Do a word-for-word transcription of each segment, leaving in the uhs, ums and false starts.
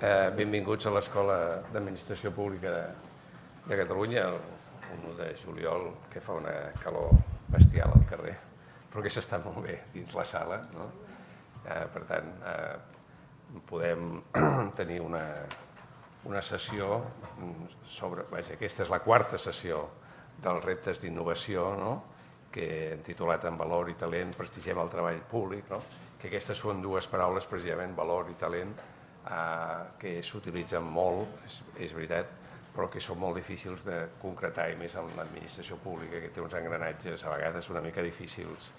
Benvinguts a l'Escola d'Administració Pública de Catalunya, el un de juliol, que fa una calor bestial al carrer, però que s'està molt bé dins la sala. Per tant, podem tenir una sessió sobre... Aquesta és la quarta sessió dels reptes d'innovació, que hem titulat En valor i talent prestigiem el treball públic, que aquestes són dues paraules, precisament, valor i talent, que s'utilitzen molt, és veritat, però que són molt difícils de concretar, i més en l'administració pública, que té uns engranatges a vegades una mica difícils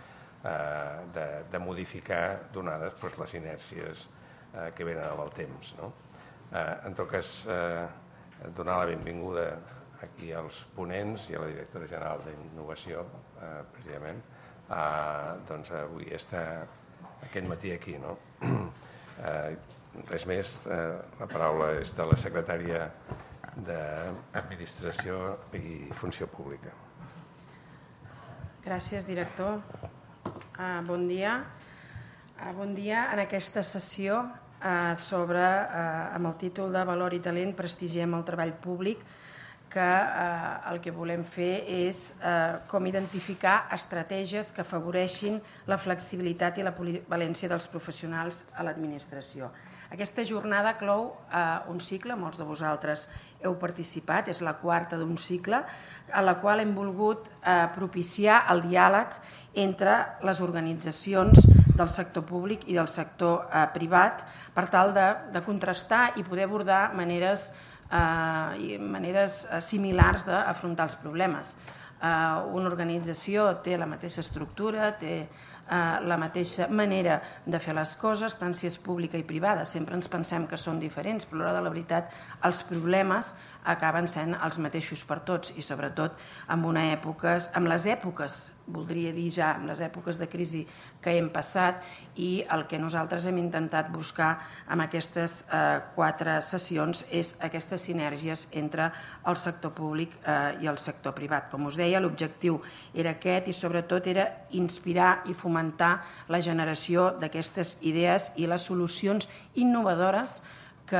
de modificar, donades les inèrcies que venen amb el temps. En tot cas, donar la benvinguda aquí als ponents i a la directora general d'Innovació, precisament, doncs avui està aquest matí aquí. Res més, la paraula és de la secretària d'Administració i Funció Pública. Gràcies, director. Bon dia. Bon dia en aquesta sessió sobre, amb el títol de Valor i talent prestigiem el treball públic, que el que volem fer és com identificar estratègies que afavoreixin la flexibilitat i la polivalència dels professionals a l'administració. Aquesta jornada clou un cicle, molts de vosaltres heu participat, és la quarta d'un cicle, en la qual hem volgut propiciar el diàleg entre les organitzacions del sector públic i del sector privat per tal de contrastar i poder abordar maneres maneres similars d'afrontar els problemes. Una organització té la mateixa estructura, té la mateixa manera de fer les coses, tant si és pública i privada. Sempre ens pensem que són diferents, però a l'hora de la veritat els problemes acaben sent els mateixos per tots i sobretot en una època, en les èpoques, voldria dir ja, en les èpoques de crisi que hem passat, i el que nosaltres hem intentat buscar amb aquestes quatre sessions és aquestes sinergies entre el sector públic i el sector privat. Com us deia, l'objectiu era aquest i sobretot era inspirar i fomentar la generació d'aquestes idees i les solucions innovadores que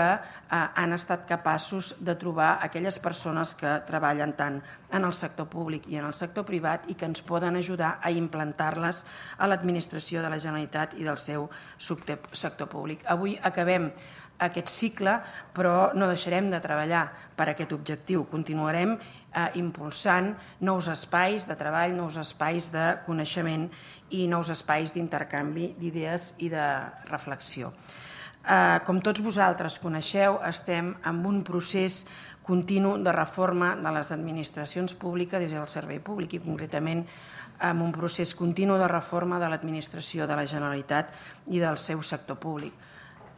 han estat capaços de trobar aquelles persones que treballen tant en el sector públic i en el sector privat i que ens poden ajudar a implantar-les a l'administració de la Generalitat i del seu sector públic. Avui acabem aquest cicle, però no deixarem de treballar per aquest objectiu. Continuarem impulsant nous espais de treball, nous espais de coneixement i nous espais d'intercanvi d'idees i de reflexió. Com tots vosaltres coneixeu, estem en un procés continu de reforma de les administracions públiques des del servei públic i concretament en un procés continu de reforma de l'administració de la Generalitat i del seu sector públic.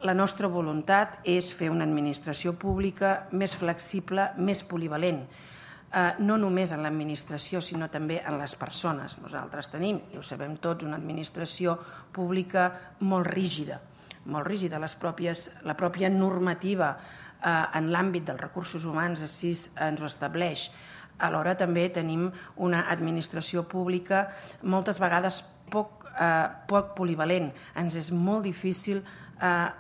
La nostra voluntat és fer una administració pública més flexible, més polivalent, no només en l'administració, sinó també en les persones. Nosaltres tenim, i ho sabem tots, una administració pública molt rígida, molt rígida. La pròpia normativa en l'àmbit dels recursos humans així ens ho estableix. Alhora també tenim una administració pública moltes vegades poc polivalent. Ens és molt difícil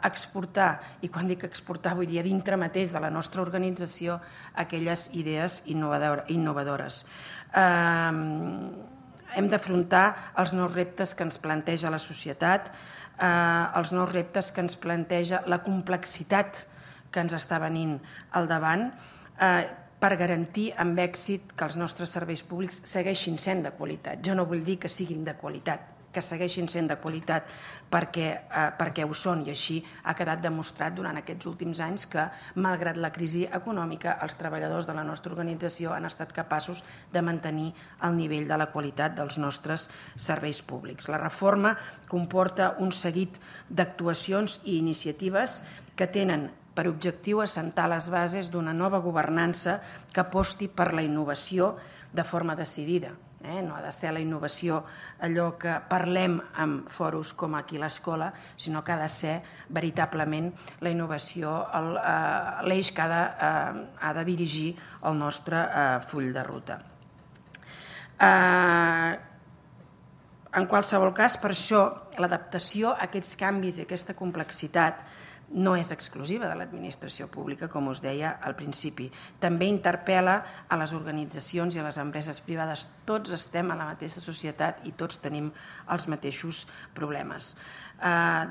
exportar, i quan dic exportar vull dir a dintre mateix de la nostra organització, aquelles idees innovadores. Hem d'afrontar els nous reptes que ens planteja la societat, els nous reptes que ens planteja la complexitat que ens està venint al davant per garantir amb èxit que els nostres serveis públics segueixin sent de qualitat. Jo no vull dir que siguin de qualitat, que segueixin sent de qualitat perquè ho són, i així ha quedat demostrat durant aquests últims anys que, malgrat la crisi econòmica, els treballadors de la nostra organització han estat capaços de mantenir el nivell de la qualitat dels nostres serveis públics. La reforma comporta un seguit d'actuacions i iniciatives que tenen per objectiu assentar les bases d'una nova governança que aposti per la innovació de forma decidida. No ha de ser la innovació allò que parlem en fòrums com aquí a l'escola, sinó que ha de ser veritablement la innovació l'eix que ha de dirigir el nostre full de ruta. En qualsevol cas, per això, l'adaptació a aquests canvis i aquesta complexitat no és exclusiva de l'administració pública, com us deia al principi. També interpel·la a les organitzacions i a les empreses privades. Tots estem a la mateixa societat i tots tenim els mateixos problemes.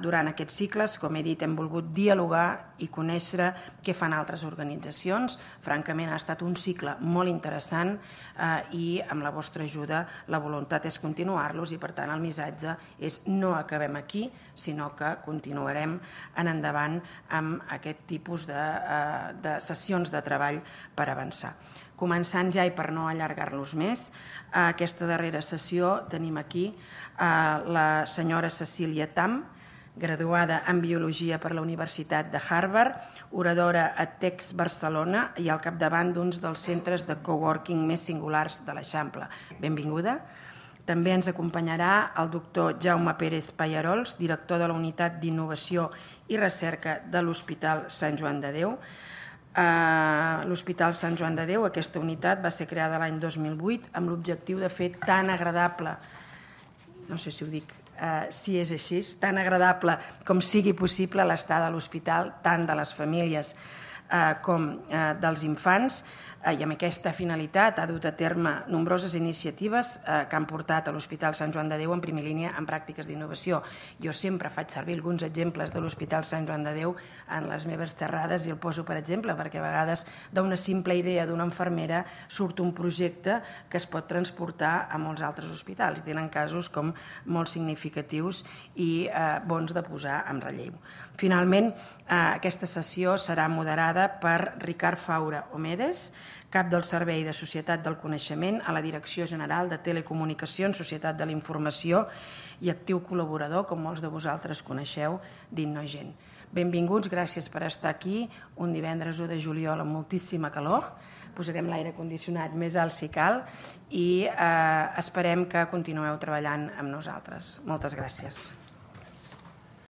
Durant aquests cicles, com he dit, hem volgut dialogar i conèixer què fan altres organitzacions. Francament, ha estat un cicle molt interessant i amb la vostra ajuda la voluntat és continuar-los i, per tant, el missatge és no acabem aquí, sinó que continuarem en endavant amb aquest tipus de sessions de treball per avançar. Començant ja, i per no allargar-los més, aquesta darrera sessió tenim aquí la senyora Cecília Tam, graduada en Biologia per la Universitat de Harvard, oradora a Tex Barcelona i al capdavant d'uns dels centres de coworking més singulars de l'Eixample. Benvinguda. També ens acompanyarà el doctor Jaume Pérez Pallarols, director de la Unitat d'Innovació i Recerca de l'Hospital Sant Joan de Déu. L'Hospital Sant Joan de Déu, aquesta unitat, va ser creada l'any dos mil vuit amb l'objectiu de fer tan agradable, no sé si ho dic, si és així, tan agradable com sigui possible l'estada a l'hospital, tant de les famílies com dels infants, i amb aquesta finalitat ha dut a terme nombroses iniciatives que han portat a l'Hospital Sant Joan de Déu en primera línia en pràctiques d'innovació. Jo sempre faig servir alguns exemples de l'Hospital Sant Joan de Déu en les meves xerrades i el poso per exemple perquè a vegades d'una simple idea d'una infermera surt un projecte que es pot transportar a molts altres hospitals. Tenen casos com molt significatius i bons de posar en relleu. Finalment, aquesta sessió serà moderada per Ricard Faura Omedes, cap del Servei de Societat del Coneixement a la Direcció General de Telecomunicacions, Societat de la Informació i actiu col·laborador, com molts de vosaltres coneixeu, d'Innogen. Benvinguts, gràcies per estar aquí, un divendres u de juliol amb moltíssima calor, posarem l'aire condicionat més alt si cal i esperem que continueu treballant amb nosaltres. Moltes gràcies.